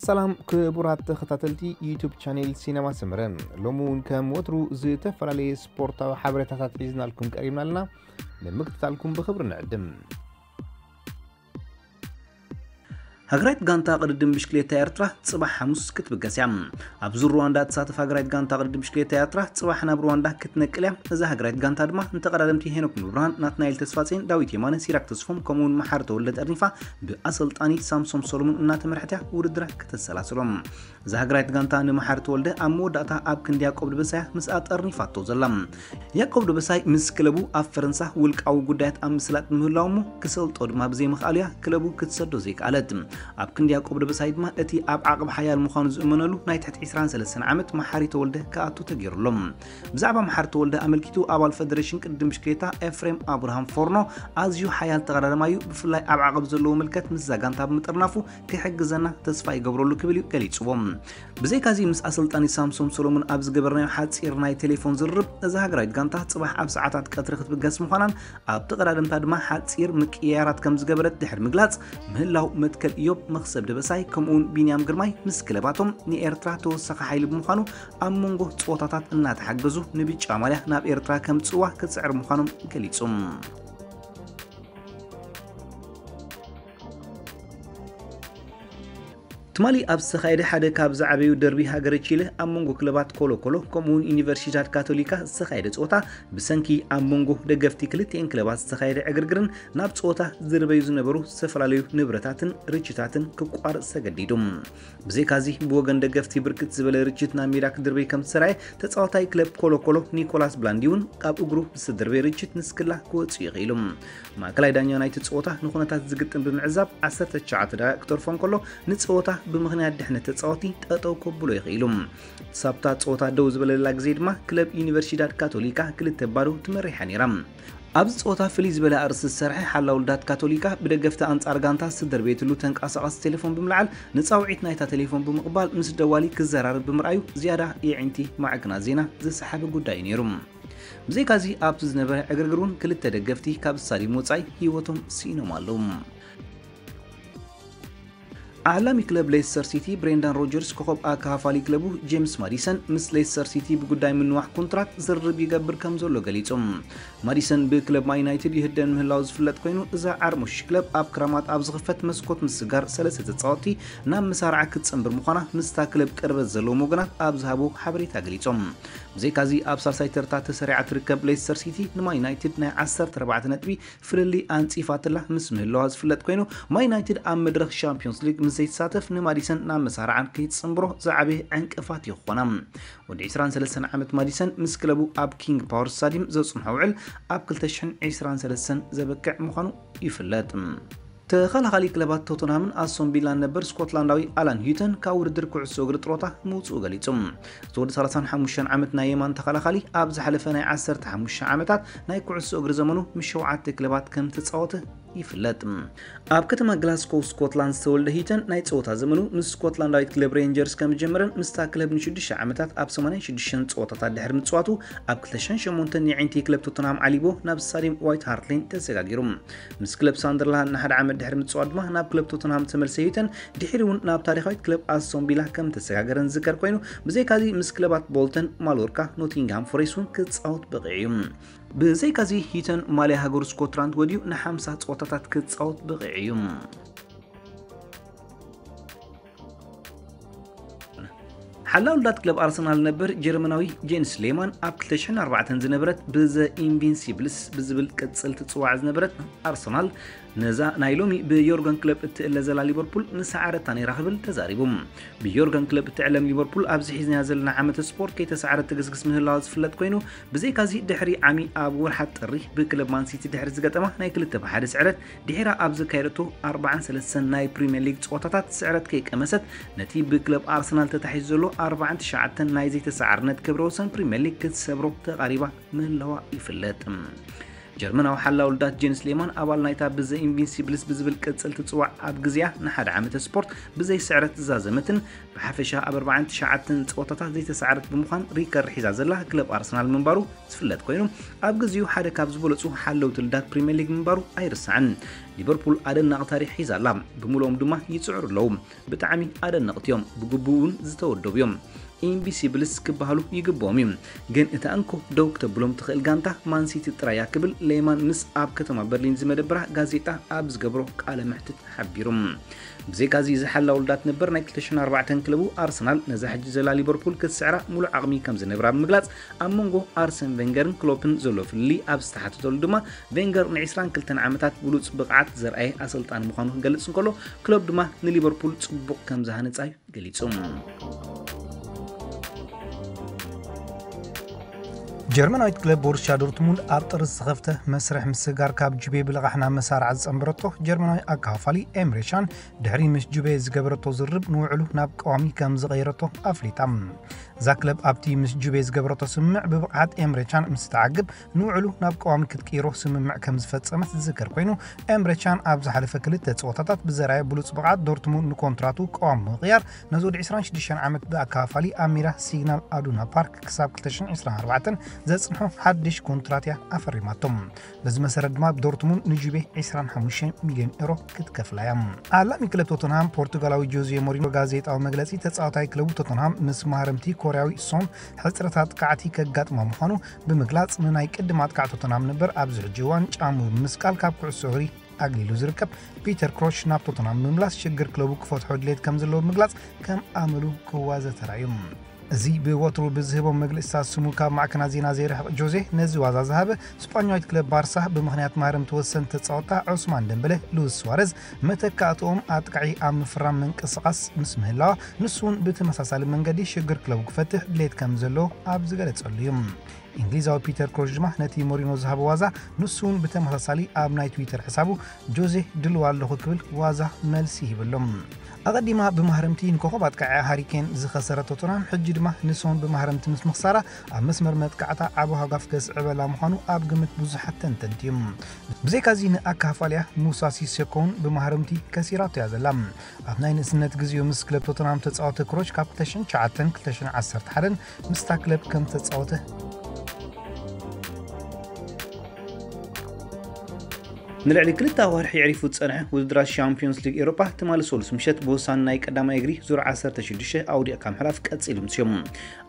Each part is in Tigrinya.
ሰላም ክቡራት ተኸታተልቲ ዩቱብ ቻኔል ሲነማ ሰመረ፣ ሎሚ እውን ከም ወትሩ ዝተፈላለየ ስፖርታዊ ሓበሬታታት ሒዝናልኩም ቀሪብና ኣለና። ንምክትታልኩም ብኽብሪ ንዕድም። ሃገራዊት ጋንታ ቅድድም ብሽክሌታ ኤርትራ ጽባሕ ሓሙስ ክትብገስ እያ። ኣብ ዙር ሩዋንዳ እትሳተፍ ሃገራዊት ጋንታ ቅድድም ብሽክሌታ ኤርትራ ጽባሕ ናብ ሩዋንዳ ክትነቅል እያ። እዛ ሃገራዊት ጋንታ ድማ ንተቐዳደምቲ ሄኖክ ሙሉብርሃን፣ ናትናኤል ተስፋጼን፣ ዳዊት የማነ፣ ሲራክ ተስፎም ከምኡውን መሓሪ ተወልደ ጠርኒፋ ብኣሰልጣኒ ሳምሶም ሰሎሞን እናተመርሐት እያ ውድድራ ከተሰላስሎ። እዛ ሃገራዊት ጋንታ ንመሓሪ ተወልደ ኣብ መወዳእታ ኣብ ክንዲ ያዕቆብ ደበሳይ ምስኣ ጠርኒፋቶ ዘላ። ያዕቆብ ደበሳይ ምስ ክለቡ ኣብ ፈረንሳ ውልቃዊ ጉዳያት ኣብ ምስላጥ ምህላው እሞ ክሰልጦ ድማ ብዘይምኽኣሉ እያ ክለቡ ክትሰዶ ዘይከኣለት። ኣብ ክንዲ ያዕቆብ ደበሳይ ድማ እቲ ኣብ ዓቕብ ሓያል ምዃኑ ዝእመነሉ ናይ ትሕቲ ዕስራን ሰለስተን ዓመት መሓሪ ተወልደ ክኣቱ ተገይሩ ኣሎ። ብዛዕባ መሓሪ ተወልደ ኣመልኪቱ ኣባል ፈደሬሽን ቅድድም ብሽክሌታ ኤፍሬም ኣብርሃም ፎርኖ ኣዝዩ ሓያል ተቐዳዳማይ እዩ፣ ብፍላይ ኣብ ዓቐብ ዘለዎ ምልከት ምስዛ ጋንታ ብምጥርናፉ ክሕግዘና ተስፋ ይገብረሉ ክብል እዩ ገሊጽዎ። ብዘይካዚ ምስ ኣሰልጣኒ ሳምሶም ሰሎሞን ኣብ ዝገበርናዮ ሓጺር ናይ ቴሌፎን ዝርርብ እዛ ሃገራዊት ጋንታ ጽባሕ ኣብ ሰዓታት ቀትሪ ክትብገስ ምዃናን ኣብ ተቐዳደምታ ድማ ሓጺር ምቅያራት ከም ዝገበረት ድሕሪ ምግላጽ ምህላው መትከል ኢዮብ መኽሰብ ደበሳይ ከምኡውን ቢንያም ግርማይ ምስ ክለባቶም ንኤርትራ ተወሳኺ ሓይሊ ብምዃኑ ኣብ መንጎ ጸወታታት እናተሓገዙ ንብጫ ማልያ ናብ ኤርትራ ከምጽዋ ክጽዕር ምዃኖም ገሊጹ። ትማሊ ኣብ ዝተኻየደ ሓደ ካብ ዝዓበዩ ደርቢ ሃገረ ቺለ ኣብ መንጎ ክለባት ኮሎ ኮሎ ከምኡውን ዩኒቨርሲዳድ ካቶሊካ ዝተኻየደ ጸወታ ብሰንኪ ኣብ መንጎ ደገፍቲ ክልቲኤን ክለባት ዝተኻየደ ዕግርግርን ናብ ጸወታ ዝርበዩ ዝነበሩ ዝተፈላለዩ ንብረታትን ርችታትን ክቋርጽ ተገዲዱ። ብዘይካዚ ብወገን ደገፍቲ ብርክት ዝበለ ርችት ናብ ሜዳ ክድርበይ ከም ዝተራየ ተጻዋታይ ክለብ ኮሎ ኮሎ ኒኮላስ ብላንዲ እውን ካብ እግሩ ብዝተደርበየ ርችት ንስክላ ክወጽእ ይኽኢሉ። ማእከላይ ዳኛ ናይቲ ጸወታ ንኹነታት ዝግጥም ብምዕዛብ ዓሰርተ ትሽዓተ ደቂቕ ክተርፎ እንከሎ ንጸወታ ብምኽንያት ድሕነት ተጻወቲ ጠጠው ከብሎ ይኽኢሉ። ሳብታ ጸወታ ደው ዝበለላ ግዜ ድማ ክለብ ዩኒቨርሲዳድ ካቶሊካ ክልተ ባዶ ትመሪሓ ነይራ። ኣብዚ ጸወታ ፍልይ ዝበለ ኣርእስቲ ዝሰርሐ ሓላው ልዳት ካቶሊካ ብደገፍቲ ኣንጻር ጋንታ ዝተደርበየትሉ ተንቀሳቓሲ ቴሌፎን ብምልዓል ንጻውዒት ናይታ ቴሌፎን ብምቕባል ምስ ደዋሊ ክዘራረብ ብምርኣዩ ዝያዳ የዒንቲ ማዕከናት ዜና ዝሰሓበ ጉዳይ እዩ ነይሩ። ብዘይካዚ ኣብቲ ዝነበረ ዕግርግር እውን ክልተ ደገፍቲ ካብ ስታዲየም ወጻኢ ህይወቶም ስኢኖም ኣለዉ። ዓላሚ ክለብ ሌስተር ሲቲ ብሬንዳን ሮጀርስ ኮኸብ ኣካፋሊ ክለቡ ጄምስ ማዲሰን ምስ ሌስተር ሲቲ ብጉዳይ ምንዋሕ ኮንትራት ዝርርብ ይገብር ከም ዘሎ ገሊጹ። ማዲሰን ብክለብ ማን ዩናይትድ ይህደን ምህላው ዝፍለጥ ኮይኑ እዛ ዓርሞሽ ክለብ ኣብ ክራማት ኣብ ዝኽፈት መስኮት ምስጋር ሰለስተ ተጻወትቲ ናብ መሳርዓ ክትጽንብር ምዃና ምስታ ክለብ ቅርበት ዘለዎም ወገናት ኣብ ዝሃቦ ሓበሬታ ገሊጾም። ብዘይካዚ ኣብ ሳልሳይ ተርታ ተሰሪዓ ትርከብ ሌስተር ሲቲ ንማን ዩናይትድ ናይ ዓሰርተ ኣርባዕተ ነጥቢ ፍልልይ ኣንጺፋትላ ምስ ምህላዋ ዝፍለጥ ኮይኑ ማን ዩናይትድ ኣብ መድረኽ ሻምፒዮንስ ሊግ ምስ ዘይተሳተፍ ንማዲሰን ናብ መሳርዓን ከይትጽንብሮ ዝዓበየ ዕንቅፋት እዩ ክኾና። ወዲ ዕስራን ሰለስተን ዓመት ማዲሰን ምስ ክለቡ ኣብ ኪንግ ፓወር ስታዲየም ዘጽንሖ ውዕል ኣብ ክልተ ሽሕን ዕስራን ሰለስተን ዘበቅዕ ምዃኑ ይፍለጥ። ተኸላኻሊ ክለባት ቶተንሃምን ኣስቶን ቪላን ነበር ስኮትላንዳዊ ኣላን ሂተን ካብ ውድድር ኩዕሶ እግሪ ጥሮታ ምውፅኡ ገሊጹ። እቲ ወዲ ሰላሳን ሓሙሽተን ዓመት ናይ የማን ተኸላኻሊ ኣብ ዝሓለፈ ናይ ዓሰርተ ሓሙሽተ ዓመታት ናይ ኩዕሶ እግሪ ዘመኑ ምስ ሸውዓተ ክለባት ከም ተጻወተ ይፍለጥ። ኣብ ከተማ ግላስኮው ስኮትላንድ ዝተወልደ ሂተን ናይ ጸወታ ዘመኑ ምስ ስኮትላንዳዊት ክለብ ሬንጀርስ ከም ዝጀመረን ምስታ ክለብ ንሽዱሽተ ዓመታት ኣብ ሰማንያን ሽዱሽተን ጸወታታት ድሕሪ ምጽዋቱ ኣብ ክልተ ሽሕን ሸሞንተን የዒንቲ ክለብ ቶተንሃም ዓሊቦ ናብ ስታዲየም ዋይት ሃርት ሌን ተሰጋጊሩ። ምስ ክለብ ሳንደርላንድ ንሓደ ዓመት ድሕሪ ምጽዋት ድማ ናብ ክለብ ቶተንሃም ዝተመልሰ ሂተን ድሕሪ እውን ናብ ታሪኻዊት ክለብ ኣስቶን ቪላ ከም ተሰጋገረን ዝዝከር ኮይኑ ብዘይካዚ ምስ ክለባት ቦልተን፣ ማሎርካ፣ ኖቲንግሃም ፎሬስት እውን ክጻወት በቒዑ እዩ። ብዘይካዚ ሂተን ማልያ ሃገሩ ስኮትላንድ ወዲኡ ንሓምሳ ጸወታታት ክጻወት በቒዑ እዩ። ሓላው ልዳት ክለብ ኣርሰናል ነበር ጀርመናዊ ጄንስ ሌማን ኣብ ክልተ ሽሕን ኣርባዕተን ዝነበረት ብዘ ኢንቪንሲብልስ ብዝብል ቅጽል ትጽዋዕ ዝነበረት ኣርሰናል ነዛ ናይ ሎሚ ብዮርገን ክለብ እትእለ ዘላ ሊቨርፑል ንሰዓረታ ነይራ ክብል ተዛሪቡ። ብዮርገን ክለብ እትዕለም ሊቨርፑል ኣብዚ ሒዝናያ ዘለና ዓመተ ስፖርት ከይተሰዓረት ትግስግስ ምህላዋ ዝፍለጥ ኮይኑ ብዘይካዚ ድሕሪ ዓሚ ኣብ ወርሓት ጥሪ ብክለብ ማንሲቲ ድሕሪ ዝገጠማ ናይ ክልተ ብሓደ ስዕረት ድሒራ ኣብ ዘካየደቶ ኣርባዓን ሰለስተን ናይ ፕሪምየር ሊግ ጸወታታት ስዕረት ከይቀመሰት ነቲ ብክለብ ኣርሰናል ተታሒዙ ዘሎ ኣርባዓን ትሽዓተን ናይ ዘይተሰዓርነት ክብረ ወሰን ፕሪምየር ሊግ ክትሰብሮ ተቓሪባ ምህላዋ ይፍለጥ። ጀርመናዊ ሓላው ልዳት ጄንስ ሌማን ኣባል ናይታ ብዘ ኢንቪንሲብልስ ብዝብል ቅጽል ትጽዋዕ ኣብ ግዜያ ንሓደ ዓመተ ስፖርት ብዘይ ስዕረት ዝዛዘመትን ብሓፈሻ ኣብ ኣርባዓን ትሽዓተን ጸወታታት ዘይተሰዓረት ብምዃን ሪከርድ ሒዛ ዘላ ክለብ ኣርሰናል ምንባሩ ዝፍለጥ ኮይኑ ኣብ ግዜኡ ሓደ ካብ ዝበለጹ ሓለውቲ ልዳት ፕሪምየር ሊግ ምንባሩ ኣይርሳዕን። ሊቨርፑል ኣደናቂ ታሪኽ ሒዛ ኣላ። ብምልኦም ድማ ይጽዕሩ ኣለዉ። ብጣዕሚ ኣደነቕቲ እዮም። ብግቡእ እውን ዝተወደቡ እዮም። ኢንቪሲብልስ ክበሃሉ ይግብኦም እዩ። ግን እታ እንኮ ደው ክተብሎም ትኽእል ጋንታ ማንሲቲ ጥራይ እያ ክብል ሌማን ምስ ኣብ ከተማ በርሊን ዝመደብራ ጋዜጣ ኣብ ዝገብሮ ቃለ መሕትት ሓቢሩ። ብዘይካዚ እዚ ሓላው ልዳት ነበር ናይ ክልተ ሽሕን ኣርባዕተን ክለቡ ኣርሰናል ነዛ ሕጂ ዘላ ሊቨርፑል ክትስዕራ ሙሉእ ዓቕሚ ከም ዝነብራ ብምግላጽ ኣብ መንጎ ኣርሰን ቬንገርን ክሎፕን ዘሎ ፍልልይ ኣብ ዝተሓተተሉ ድማ ቬንገር ን22 ዓመታት ብሉጽ ብቕዓት ዘርኣየ ኣሰልጣኒ ምዃኑ ክገልጽ እንከሎ ክሎፕ ድማ ንሊቨርፑል ጽቡቕ ከም ዝሃነጻ እዩ ገሊጹ። ጀርመናዊት ክለብ ቦሩስያ ዶርትሙንድ ኣብ ጥሪ ዝተኸፍተ መስርሕ ምስግጋር ካብ ጁቤ ብልቓሕ ናብ መሳርዓ ዝጸንበረቶ ጀርመናዊ ኣካፋፋሊ ኤምሬ ቻን ድሕሪ ምስ ጁቤ ዝገበረቶ ዝርርብ ንውዕሉ ናብ ቀዋሚ ከም ዝቐየረቶ ኣፍሊጣ። እዛ ክለብ ኣብቲ ምስ ጁቤ ዝገበረቶ ስምምዕ ብብቕዓት ኤምሬ ቻን ምስ ተዓግብ ንውዕሉ ናብ ቀዋሚ ክትቅይሮ ስምምዕ ከም ዝፈጸመት ዝዝከር ኮይኑ ኤምሬ ቻን ኣብ ዝሓለፈ ክልተ ጸወታታት ብዘርኣየ ብሉጽ ብቕዓት ዶርትሙንድ ንኮንትራቱ ቀዋሚ ብምቕያር ነዚ ወዲ ዕስራን ሽዱሽተን ዓመት ብኣካፋፋሊ ኣብ ሜዳ ሲግናል ኣዱና ፓርክ ክሳብ ክልተ ሽሕን ዕስራን ኣርባዕተን ዘጽንሖ ሓድሽ ኮንትራት እያ ኣፈሪማቶም። በዚ መሰረት ድማ ዶርትሙንድ ንጁቤ ዕስራን ሓሙሽተ ሚልዮን ኤሮ ክትከፍላ እያ። ኣላሚ ክለብ ቶተንሃም ፖርቱጋላዊ ጆዜ ሞሪኖ ጋዜጣዊ መግለጺ ተጻዋታይ ክለቡ ቶተንሃም ምስ ማህረምቲ ኮርያዊ ሶን ሕጽረት ኣጥቃዕቲ ከጋጥማ ምዃኑ ብምግላጽ ንናይ ቅድም ኣጥቃዕ ቶተንሃም ነበር ኣብዚ ሕጂ እዋን ጫሙ ብምስቃል ካብ ኩዕሶ እግሪ ኣግሊሉ ዝርከብ ፒተር ክሮች ናብ ቶተንሃም ብምምላስ ሽግር ክለቡ ክፈትሖ ድሌት ከም ዘለዎ ብምግላጽ ከም ኣመሉ ክዋዘ ተራእዩ። እዚ ብወትሩ ብዝህቦም መግለጽታት ስሙ ካብ ማዕከናት ዜና ዘይርሕቕ ጆዜ ነዚ ዋዛ ዝሃበ ስጳኛዊት ክለብ ባርሳ ብምኽንያት ማህረምቲ ወሰንቲ ተጻወታ ዑስማን ደምበለ፣ ሉዊስ ስዋረዝ መተካእትኦም ኣጥቃዒ ኣብ ምፍራም ምንቅስቓስ ምስ ምህላዋ ንሱ እውን ብተመሳሳሊ መንገዲ ሽግር ክለቡ ክፈትሕ ድሌት ከም ዘለዎ ኣብ ዝገለጸሉ እዩ። እንግሊዛዊ ፒተር ክሮች ድማ ነቲ ሞሪኖ ዝሃቦ ዋዛ ንሱ እውን ብተመሳሳሊ ኣብ ናይ ትዊተር ሕሳቡ ጆዜ ድልዋ ኣለኹ ክብል ዋዛ መልሲ ሂበሎም። ኣቐዲማ ብማህረምቲ ንኮኸብ ኣጥቃዒ ሃሪኬን ዝኸሰረ ቶተንሃም ሕጂ ድማ ንሶን ብማህረምቲ ምስ ምኽሳራ ኣብ መስመር መጥቃዕታ ዓቢ ሃጓፍ ከስዕበላ ምዃኑ ኣብ ግምት ብዙሓት ተንተንቲ እዩ። ብዘይካዚ ንኣካፋልያ ሙሳ ሲሴኮን ብማህረምቲ ከሲራቶ እያ ዘላ። ኣብ ናይ ንእስነት ግዜኡ ምስ ክለብ ቶተንሃም ተጻወተ ክሮች ካብ ክልተ ሽሕን ትሽዓተን ክልተ ሽሕን ዓሰርተ ሓደን ምስታ ክለብ ከም ተጻወተ ንልዕሊ ክልተ ኣዋርሒ የዕሪፉ ዝጸንሐ ውድድራት ሻምፒዮንስ ሊግ ኤውሮጳ ትማሊ ሰሉስ ምሸት ብወሳኒ ናይ ቀዳማይ እግሪ ዙር ዓሰርተ ሽዱሽተ ኣውዲቕካ ምሕላፍ ቀጺሉ ምስዮም።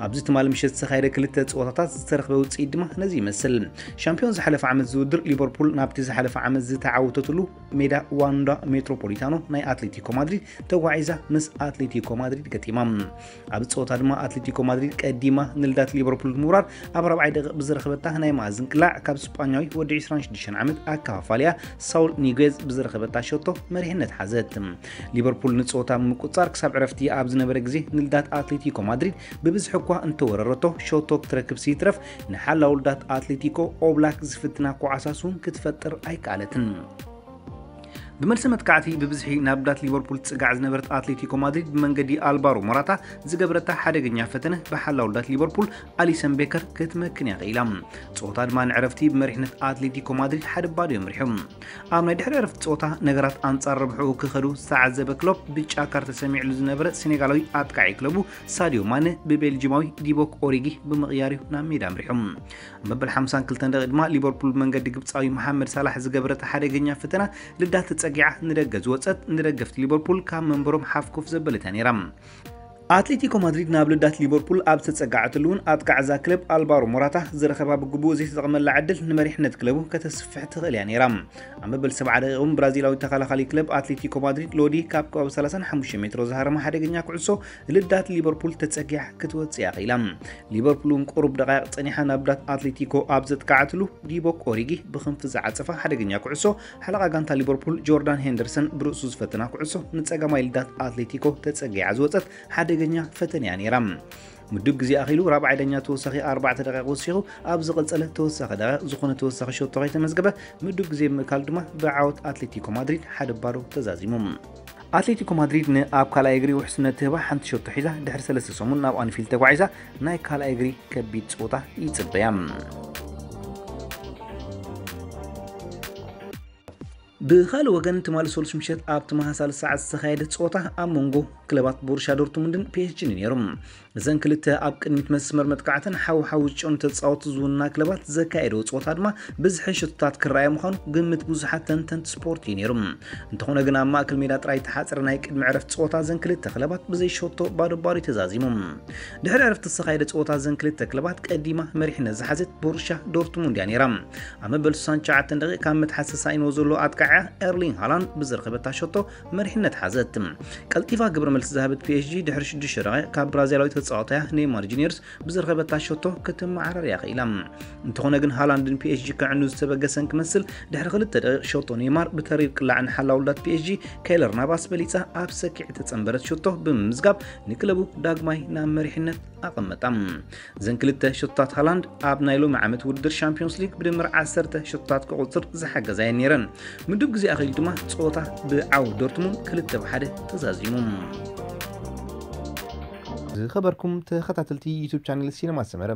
ኣብዚ ትማሊ ምሸት ዝተኻየደ ክልተ ጸወታታት ዝተረኽበ ውጽኢት ድማ ነዚ ይመስል። ሻምፒዮን ዝሓለፈ ዓመት ዝውድር ሊቨርፑል ናብቲ ዝሓለፈ ዓመት ዝተዓወተትሉ ሜዳ ዋንዳ ሜትሮፖሊታኖ ናይ ኣትሌቲኮ ማድሪድ ተጓዒዛ ምስ ኣትሌቲኮ ማድሪድ ገጢማ። ኣብዚ ጸወታ ድማ ኣትሌቲኮ ማድሪድ ቀዲማ ንልዳት ሊቨርፑል ብምውራር ኣብ ራብዓይ ደቂቕ ብዝረኸበታ ናይ መኣዝን ቅላዕ ካብ ስጳኛዊ ወዲ ዕስራን ሽዱሽተን ዓመት ኣከፋፋልያ ሳውል ኒጉዝ ብዝረኸበታ ሸቶ መሪሕነት ሓዘት። ሊቨርፑል ንጸወታ ብምቁጻር ክሳብ ዕረፍቲ ኣብ ዝነበረ ግዜ ንልዳት ኣትሌቲኮ ማድሪድ ብብዝሒ እኳ እንተወረረቶ ሸቶ ክትረክብ ስይትረፍ ንሓላው ልዳት ኣትሌቲኮ ኦብላክ ዝፍትና ኳዓሳስ እውን ክትፈጥር ኣይከኣለትን። ብመልሲ መጥቃዕቲ ብብዝሒ ናብ ዳት ሊቨርፑል ትጽጋዕ ዝነበረት ኣትሌቲኮ ማድሪድ ብመንገዲ ኣልቫሮ ሞራታ ዝገበረታ ሓደገኛ ፈተነ ብሓላው ዳት ሊቨርፑል ኣሊሰን ቤከር ክትመክን እያ ክኢላ። ጸወታ ድማ ንዕረፍቲ ብመሪሕነት ኣትሌቲኮ ማድሪድ ሓደ ባዶ እዮም ሪሖም። ኣብ ናይ ድሕሪ ዕረፍቲ ጸወታ ነገራት ኣንጻር ረብሕኡ ክኸዱ ዝተዓዘበ ክሎፕ ብጫ ካርድ ተሰሚዕሉ ዝነበረ ሴኔጋላዊ ኣጥቃዒ ክለቡ ሳዲዮ ማነ ብቤልጂማዊ ዲቦክ ኦሪጊ ብምቕያር እዩ ናብ ሜዳ ኣምሪሑ። መበል ሓምሳን ክልተን ደቂቕ ድማ ሊቨርፑል ብመንገዲ ግብጻዊ መሓመድ ሳላሕ ዝገበረታ ሓደገኛ ፈተና ልዳት ተጸጊዓ ንደገ ዝወጸት ንደገፍቲ ሊቨርፑል ካብ መንበሮም ሓፍኮፍ ዘበለት እያ ነይራ። ኣትሌቲኮ ማድሪድ ናብ ልዳት ሊቨርፑል ኣብ ዝተጸጋዐትሉ እውን ኣጥቃዕ እዛ ክለብ ኣልቫሮ ሞራታ ዝረኸባ ብግቡእ ዘይተጠቕመላ ዕድል ንመሪሕነት ክለቡ ከተስፍሕ ትኽእል እያ ነይራ። ኣብ መበል ሰብዓ ደቂቕ እውን ብራዚላዊ ተኸላኻሊ ክለብ ኣትሌቲኮ ማድሪድ ሎዲ ካብ ከባቢ ሰላሳን ሓሙሽተ ሜትሮ ዝሃረመ ሓደገኛ ኩዕሶ ልዳት ሊቨርፑል ተጸጊዓ ክትወጽእ እያ ክኢላ። ሊቨርፑል እውን ቁሩብ ደቃይቕ ጸኒሓ ናብ ልዳት ኣትሌቲኮ ኣብ ዘጥቃዓትሉ ዲቦክ ኦሪጊ ብክንፊ ዝዓጸፋ ሓደገኛ ኩዕሶ ሓለቓ ጋንታ ሊቨርፑል ጆርዳን ሄንደርሰን ብርእሱ ዝፈተና ኩዕሶ ንጸጋማይ ልዳት ኣትሌቲኮ ተጸጊዓ ዝወጸት ሓደገኛ ፈተነ እያ ነይራ። ምዱብ ግዜ ኣኺሉ ራብዓይ ዳኛ ተወሳኺ ኣርባዕተ ደቂቕ ወሲኹ ኣብ ዝቐጸለ ተወሳኺ ደቂቕ ዝኾነ ተወሳኺ ሸቶ ከይተመዝገበ ምዱብ ግዜ ብምእካል ድማ ብዓወት ኣትሌቲኮ ማድሪድ ሓደ ባዶ ተዛዚሙ። ኣትሌቲኮ ማድሪድ ንኣብ ካልኣይ እግሪ ውሕስነት ትህባ ሓንቲ ሸቶ ሒዛ ድሕሪ ሰለስተ ሰሙን ናብ ኣንፊልድ ተጓዒዛ ናይ ካልኣይ እግሪ ከቢድ ጸወታ ይጽበያ። ብኻልእ ወገን ትማሊ ሰሉስ ምሸት ኣብ ተመሳሳሊ ሰዓት ዝተኻየደ ፀወታ ኣብ መንጎ ክለባት ቦሩሻ ዶርትሙንድን ፒኤስጂን እዩ ነይሩ። እዘን ክልተ ኣብ ቅድሚት መስመር መጥቃዕተን ሓው ሓው ዝጨኑ ተፃወቲ ዝውንና ክለባት ዘካየደዎ ፀወታ ድማ ብዝሒ ሽቶታት ክረኣየ ምዃኑ ግምት ብዙሓት ተንተንቲ ስፖርት እዩ ነይሩ። እንተኾነ ግን ኣብ ማእከል ሜዳ ጥራይ ተሓፅረ ናይ ቅድሚ ዕረፍቲ ፀወታ እዘን ክልተ ክለባት ብዘይ ሸቶ ባዶ ባዶ ተዛዚሞም። ድሕሪ ዕረፍቲ ዝተኻየደ ፀወታ እዘን ክልተ ክለባት ቀዲማ መሪሕነት ዝሓዘት ቦሩሻ ዶርትሙንድ እያ ነይራ። ኣብ መበል ስሳን ትሽዓተን ደቂቕ ካብ መትሓዚ ተሳኢንዎ ዘሎ ኣጥቃዕያ ኤርሊንግ ሃላንድ ብዝረኸበታ ሸቶ መሪሕነት ሓዘት። ቀልጢፋ ግብረ መልሲ ዝሃበት ፒኤስጂ ድሕሪ ሽዱሽተ ደቂቕ ካብ ብራዚላዊ ተጻዋታያ ኔይማር ጁኒየርስ ብዝረኸበታ ሸቶ ክትመዓረር እያ ክኢላ። እንተኾነ ግን ሃላንድን ፒኤስጂ ከዕኑ ዝተበገሰን ክመስል ድሕሪ ክልተ ደቂቕ ሸቶ ኔይማር ብተሪር ቅላዕን ሓላውልዳት ፒኤስጂ ከይለር ናቫስ በሊጻ ኣብ ሰኪዕ ተጸንበረት ሸቶ ብምምዝጋብ ንክለቡ ዳግማይ ናብ መሪሕነት ኣቐመጣ። እዘን ክልተ ሸቶታት ሃላንድ ኣብ ናይ ሎሚ ዓመት ውድድር ሻምፒዮንስ ሊግ ብድምር ዓሰርተ ሸቶታት ክቑጽር ዝሓገዛ እየን ነይረን። ምዱብ ግዜ ኣኺሉ ድማ ጸወታ ብዓው ዶርትሙንድ ክልተ ብሓደ ተዛዚሙ። ዝኸበርኩም ተኸታተልቲ ዩቱብ ቻነል ሲነማ ሰመረ፣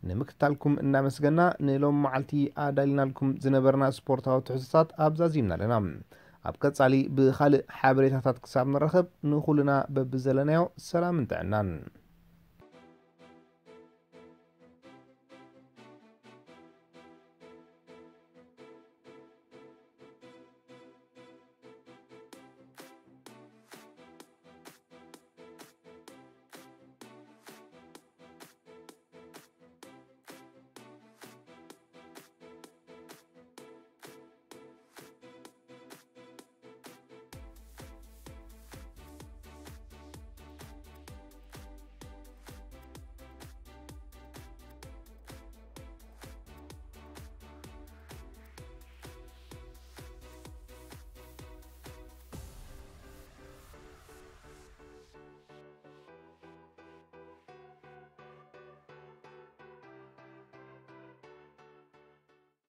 ንምክትታልኩም እናመስገና ንሎም መዓልቲ ኣዳሊናልኩም ዝነበርና ስፖርታዊ ትሕዝቶታት ኣብዛዚምና ኣለና። ኣብ ቀጻሊ ብኻልእ ሓበሬታታት ክሳብ ንራኸብ ንኹልና በብዘለናዮ ሰላምን ጥዕናን።